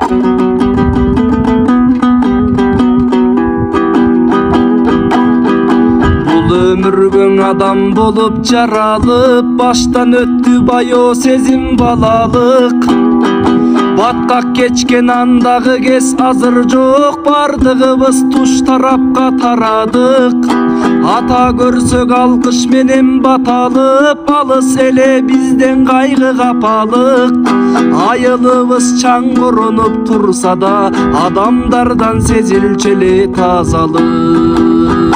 Бул өмүргөң адам болуп жаралып, баштан өттү байоо сезим балалык. Баткак кечкен андагы кез азыр жок, бардыгыбыз туш тарапка тарадык. Ата көрсөк алкыш менен баталып, алыс эле бизден кайгы капалык. Айылыбыз чаңгырынып турса да, адамдардан сезилчү эле тазалык.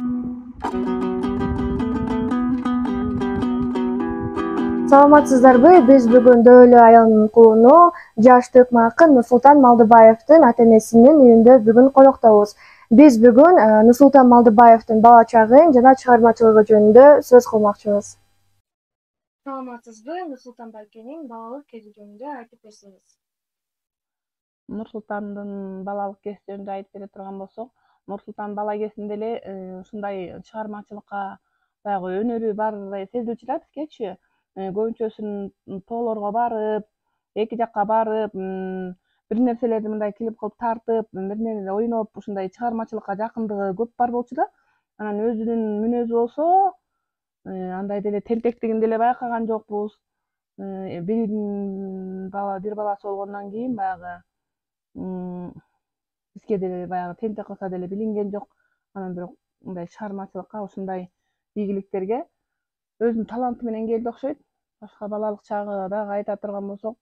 Саламатсыздарбы? Биз бүгүн Дөөлө айылынын кулуну, жаш төкмө акын Нурсултан Малдыбаевдин ата-энесинин үйүндө бүгүн коноктобуз. Биз бүгүн Нурсултан Малдыбаевдин бала чагын жана чыгармачылыгы жөнүндө сөз кылмакчыбыз. Саламатсызбы? Нурсултан байкенин балалык кези жөнүндө айтып берсеңиз. Нурсултандын балалык кези жөнүндө айтып бере турган болсок, Нурсултан бала кезинде эле ушундай чыгармачылыкка баягы өнөрү бар сезилчү да бизгечи. Көбүнчөсүн тоолорго барып, эки жакка барып, бир нерселерди мындай клип кылып тартып, бир ойноп, ушундай чыгармачылыкка жакындыгы көп бар болчу да. Анан өзүнүн мүнөзү болсо, андай деле тентектигин деле байкаган жокпуз. Бир баласы болгондон кийин баягы бизге деле баягы тентек кылса деле билинген жок. Анан бирок мындай чыгармачылыкка, ушундай ийгиликтерге өзүнүн таланты менен келди окшойт. Башка балалык чагы дагы айта турган болсок,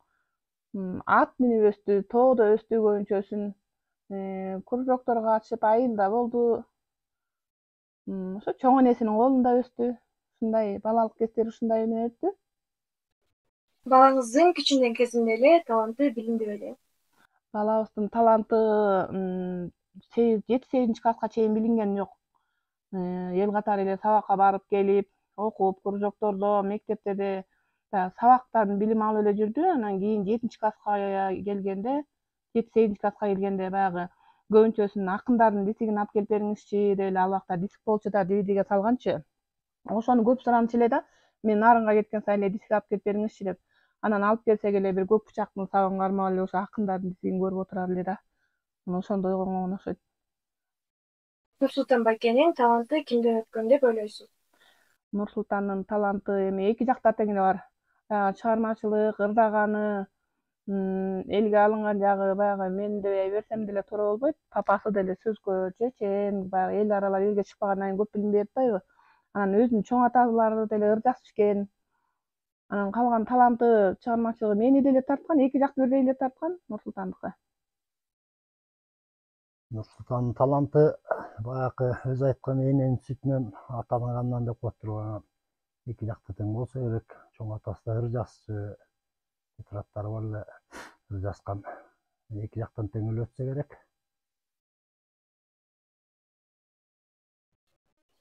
ат минип өстү, тоодо өстү көбүнчөсүн, кружокторго катышып, айылда болду. Ошо чоң энесинин колунда өстү. Ушундай балалык кездери ушундай менен өттү. Балаңыздын кичинен кезинде эле таланты билинди беле? Балабыздын таланты 7-8 класска чейин билинген жок. Эл катары эле сабакка барып келип, окуп, кружоктордо, мектептерде сабактан билим алып эле жүрдү. Анан кийин 7 класска келгенде, 7-8 класска келгенде баягы көбүнчөсүн акындардын дисигин алып келип бериңизчи деп эле, ал убакта диск болчу да, DVD салганчы. Ошону көп суранчу эле да. Мен нарынга кеткен сайын эле диск алып келип бериңизчи деп. Анан алып келсек эле бир көк бычактын сабын кармап эле ошо акындардын дисигин көрүп отурар эле да. Ошондо ойгонгон окшойт. Нурсултан байкенин таланты кимден өткөн деп ойлойсуз? Нурсултандын таланты эми эки жакта тең эле бар. Чыгармачылык, ырдаганы, элге алынган жагы баягы мен дебей берсем деле туура болбойт. Папасы деле сөзгө чечен, баягы эл аралап элге чыкпагандан кийин көп билим берип атпайбы? Анан өзүнүн чоң аталары деле ыр жазып ишкен. Анан калган таланты, чыгармачылыгы мени деле тарткан, эки жак бирдей эле тарткан Нурсултандыкы. Нурсултандын таланты баягы өзү айткан эненин сүтүнөн атагандан деп коет турган. Эки жакта тең болсо керек. Чоң атасы да ыр жазчу, тетрадтары бар эле ыр жазган. Эки жактан тең эле өтсө керек.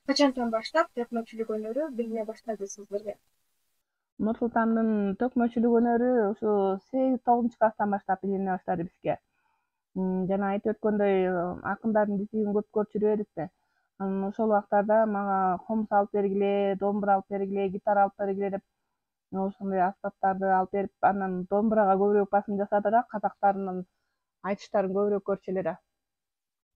Качантан баштап төкмөчүлүк өнөрү билине баштадыңыз беле? Нурсултандын төкмөчүлүк өнөрү ушу 8-9 класстан баштап билине баштады бизге. Жана айтып өткөндөй, акындардын дисигин көп көрүп жүрүп эдикти. Анан ошол убактарда мага комуз алып бергиле, домбура алып бергиле, гитара алып бергиле деп ошондой аспаптарды алып берип, анан домбурага көбүрөөк басым жасады да, казактардын айтыштарын көбүрөөк көрчү эле да.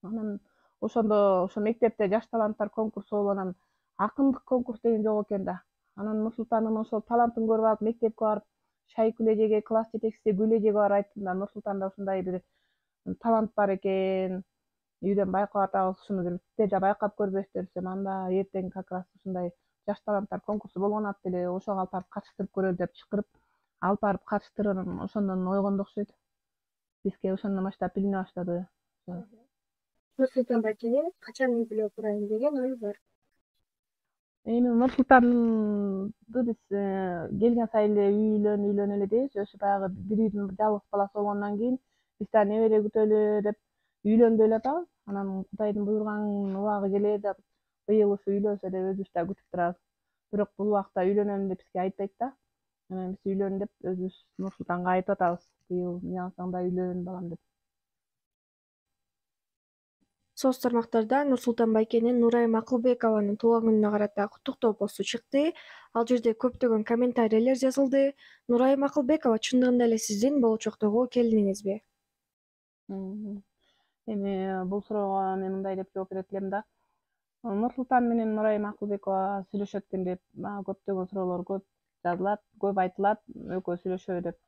Анан ошондо ошо мектепте жаш таланттар конкурсу болуп, анан акындык конкурс деген жок экен да. Анан Нурсултандын ошол талантын көрүп алып, мектепке барып, чай күлежеге, класс жетекчиси күлежеге барып айттым да, Нурсултанда ушундай бир талант бар экен, үйдөн байкап атабыз, ушуну бир сиздер да байкап көрбөйсүздөр десем, анда эртең как раз ушундай жаш таланттар конкурсу болгон атты эле, ошого алып барып катыштырып көрөлү деп чакырып, алып барып катыштырып, ошондон ойгонду окшойт. Бизге ошондон баштап билине баштады. Нурсултан байкенин качан үй бүлө курайын деген ою бар? Эми Нурсултанды биз келген сайын эле үйлөн эле дейбиз. Өзү баягы бир үйдүн жалгыз баласы болгондон кийин биз да небере күтөлү деп үйлөнгү эле атабыз. Анан Кудайдын буйруган убагы келээр деп быйыл ушу үйлөнсө деп өзүбүз да күтүп турабыз. Бирок бул убакта үйлөнөм деп бизге айтпайт да. Анан биз үйлөн деп өзүбүз Нурсултанга айтып атабыз. Быйыл эмне кылсаң да үйлөн балам деп. Соц тармактарда Нурсултан байкенин Нурайым Акылбекованын туулган күнүнө карата куттуктоо посту чыкты. Ал жерде көптөгөн комментарийлер жазылды. Нурайым Акылбекова чындыгында эле сиздин болочоктогу келиниңизби? Эми бул суроого мен мындай деп жооп берет элем да. Нурсултан менен Нурайым Акылбекова сүйлөшөт экен деп көптөгөн суроолор көп жазылат, көп айтылат, экөө сүйлөшөбү деп.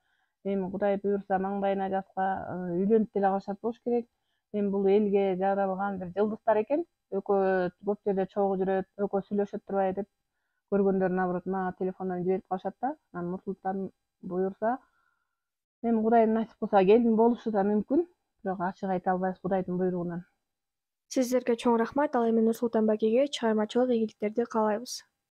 Эми Кудай буюрса маңдайына жазса үйлөнүп деле калышат болуш керек. Эми бул элге жаралган бир жылдыздар экен. Экөө көп жерде чогуу жүрөт, экөө сүйлөшөт турбайбы деп көргөндөр наоборот мага телефондон жиберип калышат да. Анан Нурсултан буюрса эми Кудай насип кылса келин болушу да мүмкүн. Бирок ачык айта албайбыз Кудайдын буйругунан. Сиздерге чоң рахмат. Ал эми Нурсултан байкеге чыгармачылык ийгиликтерди каалайбыз.